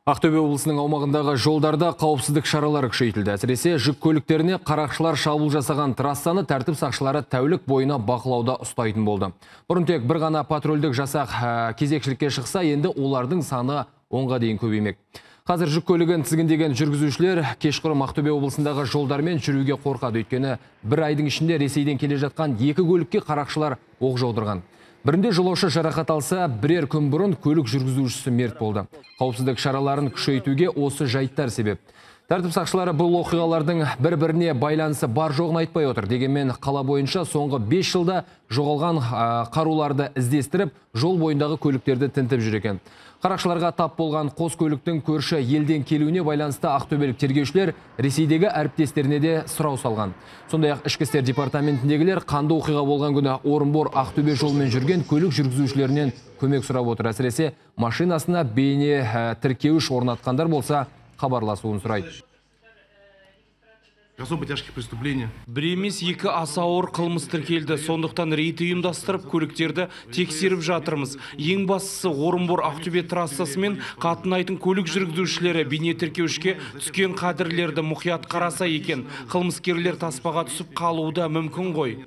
Ақтөбе облысының аумағындағы жолдарда қауіпсіздік шаралары күшейтілді. Әсіресе жүк көліктеріне қарақшылар шабуыл жасаған трассаны тәртіп сақшылары тәулік бойына бақылауда ұстайтын болды. Бұрын тек бір ғана патрульдік жасақ кезекшілікке шықса, енді олардың саны 10-ға дейін көбеймек. Қазір жүк көлігін тізгіндеген жүргізушілер кешқұрым Ақтөбе облысындағы жолдармен жүруге қорқады. Өйткені бір айдың ішінде Ресейден келе жатқан 2 көлікке қарақшылар оқ жаудырған. Бірінде жолаушы жарақат алса, бірер күн бұрын көлік жүргізушісі мерт болды. Қауіпсіздік шараларын күшейтуге осы жайттар себеп. Тәртіп сақшылары бұл оқиғалардың бір-біріне байланысы бар жоғын айтпай отыр. Дегенмен қала бойынша соңғы 5 жылда жоғалған қаруларды іздестіріп, жол бойындағы көліктерді тінтіп жүр екен. Қарақшыларға тап болған қос көліктің көрші елден келуіне байланысты ақтөбелік тергеушілер Ресейдегі әріптестеріне де сұрау салған. Сондай-ақ ішкі істер департаментіндегілер қанды оқиға болған күні Орынбор Ақтөбе жолымен жүрген көлік жүргізушілерінен көмек сұрап отыр. Әсіресе машинасына бейне тіркеуіш орнатқандар болса, хабарласуын сұрайды. Особо тяжких преступлений. Бір емес екі аса ауыр қылмыс тіркелді. Сондықтан рейд ұйымдастырып, көліктерді тексеріп жатырмыз. Ең бастысы Орынбор Ақтөбе трассасы мен қатынайтын көлік жүргізушілері бейне тіркеушке түскен қадірлерді мұқият қараса екен. Қылмыскерлер таспаға түсіп қалуы да мүмкін ғой.